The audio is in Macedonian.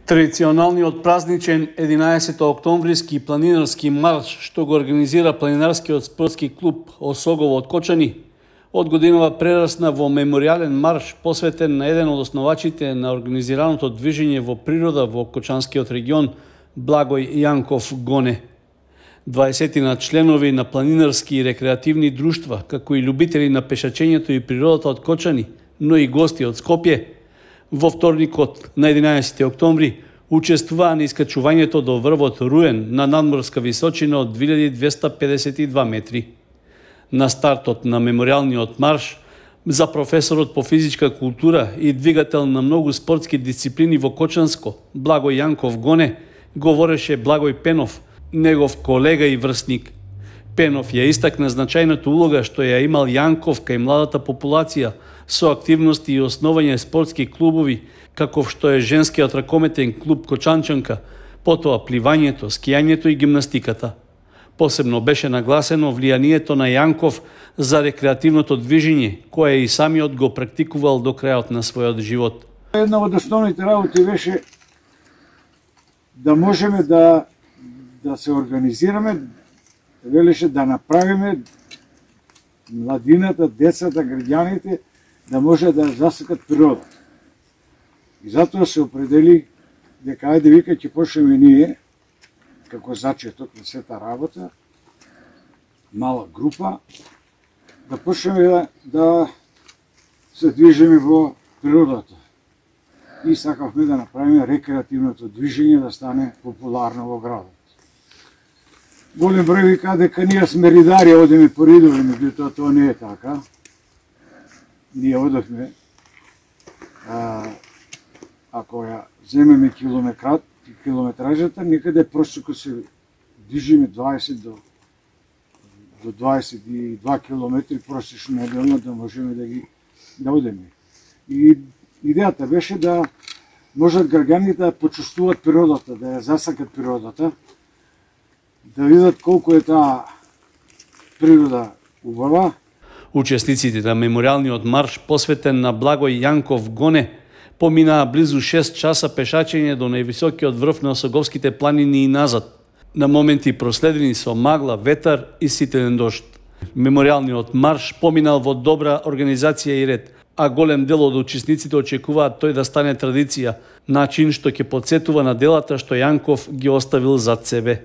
Традиционалниот празничен 11 октомвриски планинарски марш што го организира планинарскиот спортски клуб Осогово од Кочани, од годинава прерасна во меморијален марш посветен на еден од основачите на организираното движење во природа во Кочанскиот регион, Благој Јанков Гоне. 20 членови на планинарски и рекреативни друштва, како и љубители на пешачењето и природата од Кочани, но и гости од Скопје, во вторникот на 11 октомври учествуваа на искачувањето до врвот Руен на надморска височина од 2252 метри. На стартот на меморијалниот марш за професорот по физичка култура и двигател на многу спортски дисциплини во Кочанско, Благој Јанков Гоне, говореше Благој Пенов, негов колега и врсник. Пенов ја истакна значајната улога што ја имал Јанков кај младата популација со активности и основање спортски клубови, каков што е женскиот ракометен клуб Кочанчанка, потоа пливањето, скијањето и гимнастиката. Посебно беше нагласено влијанието на Јанков за рекреативното движење, кое и самиот го практикувал до крајот на својот живот. Една од основните работи беше да можеме да се организираме, велеше да направиме младината, децата, граѓаните да може да засекат природата. И затоа се определи дека ајде вика ќе почнеме ние, како зачеток на сета работа, мала група, да почнеме да се движиме во природата. И сакавме да направиме рекреативното движење да стане популарно во градот. Голем број вика дека ние сме ридари, одиме по ридови, меѓутоа тоа не е така. Ние одевме, ако ја земеме километражата, некаде просеко се движиме 20 до 22 километри просечно неделно да можеме да одеме. И идејата беше да можат граѓаните да почувствуваат природата, да ја засакат природата, да видат колку е таа природа убава. Учесниците на меморијалниот марш посветен на Благој Јанков Гоне поминаа близу 6 часа пешачење до највисокиот врв на Осоговските планини и назад, на моменти проследени со магла, ветар и ситен дожд. Меморијалниот марш поминал во добра организација и ред, а голем дел од учесниците очекуваат тој да стане традиција, начин што ќе потсетува на делата што Јанков ги оставил зад себе.